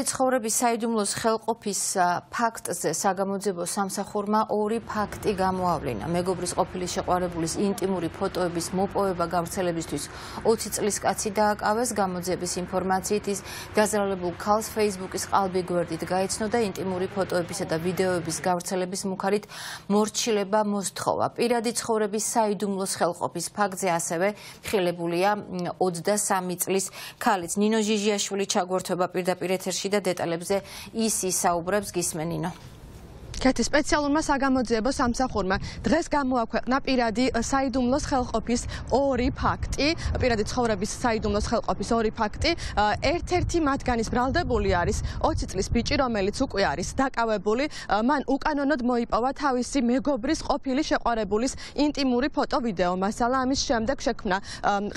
ცხოვრების საიდუმლოს ხელყოფის ფაქტზე საგამოძიებო სამსახურმა ორი ფაქტი გამოავლინა. მეგობრის ყოფილი შეყვარებულის ინტიმური ფოტოების მოპოვება გავრცელებისთვის 20 წლის კაცი დააკავეს. გამოძიების ინფორმაციით ის დაზრალებულ ქალს Facebook-ის ყალბი გვერდით გაიცნო და ინტიმური ფოტოებისა და ვიდეოების გავრცელების მუხარით მორჩილება მოსთხოვა. პირადი ცხოვრების საიდუმლოს ხელყოფის ფაქტზე ასევე ხილებულია 23 წლის ქალიც. ნინო ჟიჟიაშვილი ჩაგვერთვება პირდაპირ ეთერში და დეტალებზე ის ისაუბრებს გისმენინო. კეთი სპეციალურმა საგამოძიებო სამსახურმა დღეს გამოაქვეყნა პირადი საიდუმლოს ხელყოფის ორი ფაქტი, პირადი ცხოვრების საიდუმლოს ხელყოფის ორი ფაქტი. ერთ-ერთი მათგანის ბრალდებული არის 20 წლის ბიჭი, რომელიც უკვე არის დაკავებული. მან უკანონოდ მოიპოვა თავისი მეგობრის ყოფილი შეყვარებულის ინტიმური ფოტო-ვიდეო მასალა. ამის შემდეგ შექმნა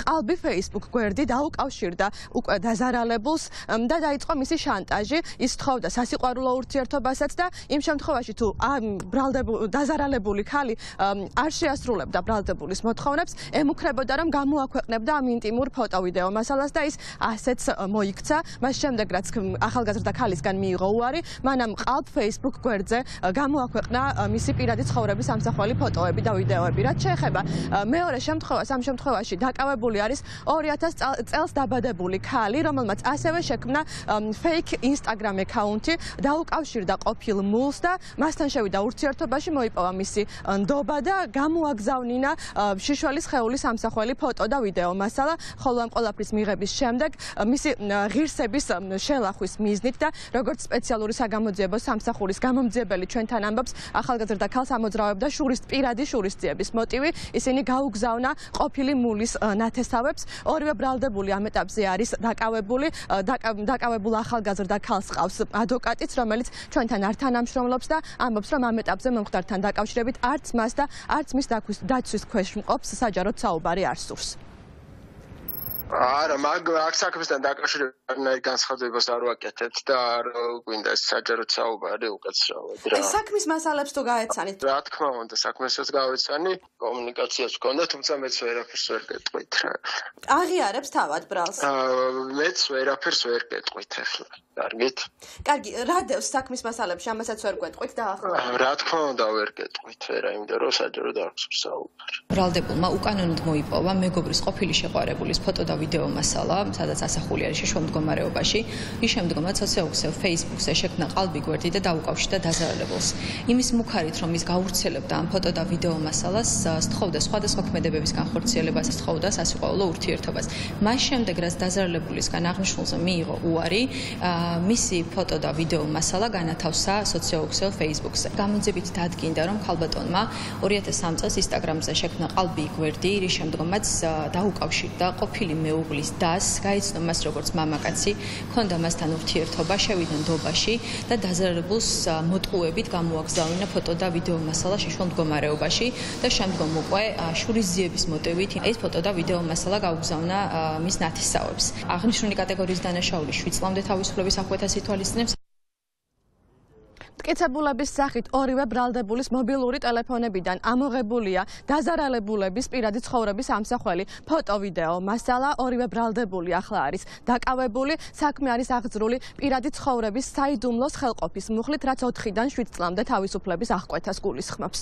ყალბი Facebook გვერდი, დაუკავშირდა უკვე დაზარალებულს და დაიწყო მისი შანტაჟი. ის თხოვდა სასიყვარულო ურთიერთობასაც და იმ შემთხვევაში თუ დაზარალებული ქალი არ შეასრულებდა ბრალდებულის მოთხოვნებს, ემუქრებოდა რომ გამოაქვეყნებდა ამ ინტიმურ ფოტო-ვიდეო მასალას და ის ასეც მოიქცა. მას შემდეგ რაც ახალგაზრდა ქალისგან მიიღო უარი, მან ამ ყალბ Facebook გვერდზე გამოაქვეყნა მისი პირადი ცხოვრების ამსახველი ფოტოები და ვიდეოები. რაც შეეხება მეორე შემთხვევას, ამ შემთხვევაში დაკავებული არის 2000 წელს დაბადებული ქალი, რომელმაც ასევე შექმნა fake Instagram აკაუნტი, დაუკავშირდა ყოფილ მულს და მასთან შევიდა ურთიერთობაში, მოიპოვა მისი ნდობა და გამოაგზავნა შიშველის ხეულის ამსახველი ფოტო და ვიდეო მასალა, ხოლო ამ ყველაფრის მიღების შემდეგ მისი ღირსების შელახვის მიზნით და როგორც სპეციალური საგამოძიებო სამსახურის გამომძიებელი ჩვენთან ამბობს, ახალგაზრდა ქალს ამოძრავებდა პირადი შურისძიების მოტივი. ისინი გაუგზავნა ყოფილი მულის ნათესავებს. ორივე ბრალდებული ამ ეტაპზე არის დაკავებულ ახალგაზრდა ქალს ყავს ადვოკატიც, რომელიც ჩვენთან არ თანამშრომლობს და ამბობს, რომ ამ ეტაპზე მომხდართან დაკავშირებით არც მას და არც მის დაცვის ქვეშ მყოფს საჯაროდ საუბარი არ სურს. არა, აქ საქმესთან დაკავშირებით განსხვავებას არ ვაკეთებთ და არ გვინდა საჯაროდ საუბარი უკაცრავად რა. საქმის მასალებს თუ გაეცანით? რა თქმა უნდა, საქმესაც გავეცანი, კომუნიკაციაც გქონდა, თუმცა მეც ვერაფერს ვერ გეტყვით რა. აღიარებს თავად ბრალს? მეც ვერაფერს ვერ გეტყვით ახლა. კარგით? კარგი, რა დევს საქმის მასალებში, ამასაც ვერ გეტყვით და ახლა? რა თქმა უნდა ვერ გეტყვით, ვერა, იმიტომ რომ საჯაროდ არ გსურს საუბარი. ბრალდებულმა უკანონოდ მოიპოვა მეგობრის ყოფილი შეყვარებულის ფოტო და ვიდეო მასალა, სადაც ასახული არის შიშველ მდგომარეობაში. ის შემდგომაც სოციალურ Facebook-ზე შექმნა ყალბი გვერდი და დაუკავშირდა დაზარალებულს. იმის მუხარით, რომ ის გავრცელებდა ამ ფოტო და ვიდეო მასალას, სთხოვდა სხვადასხვა ქმედებების განხორციელებას, სთხოვდა სასიყვარულო ურთიერთობას. მას შემდეგ, რაც დაზარალებულისგან აღნიშნულზე მიიღო უარი, მისი ფოტო და ვიდეო მასალა განათავსა სოციალურ Facebook-ზე. გამოძიებით დადგინდა, რომ ქალბატონმა 2003 წელს Instagram-ზე შექმნა ყალბი გვერდი, რის შემდგომაც დაუკავშირდა ყოფილი მეუღლის დას, გაიცნო მას როგორც მამაკაცი, ჰქონდა მასთან ურთიერთობა, შევიდა ნდობაში და დაზარალებულს მოტყუებით გამოაგზავნა ფოტო და ვიდეო მასალა შიშველ მდგომარეობაში და შემდგომ უკვე შურისძიების მოტივით ეს ფოტო და ვიდეო მასალა გაუგზავნა მის ნათესავებს. აღნიშნული კატეგორიის დანაშაული 7 წლამდე თავისუფლების აღკვეთას ითვალისწინებს. მტკიცებულების სახით ორივე ბრალდებულის მობილური ტელეფონებიდან ამოღებულია დაზარალებულების პირადი ცხოვრების ამსახველი ფოტო-ვიდეო მასალა. ორივე ბრალდებული ახლა არის დაკავებული. საქმე არის აღძრული პირადი ცხოვრების საიდუმლოს ხელყოფის მუხლით, რაც 4-დან 7 წლამდე თავისუფლების აღკვეთას გულისხმობს.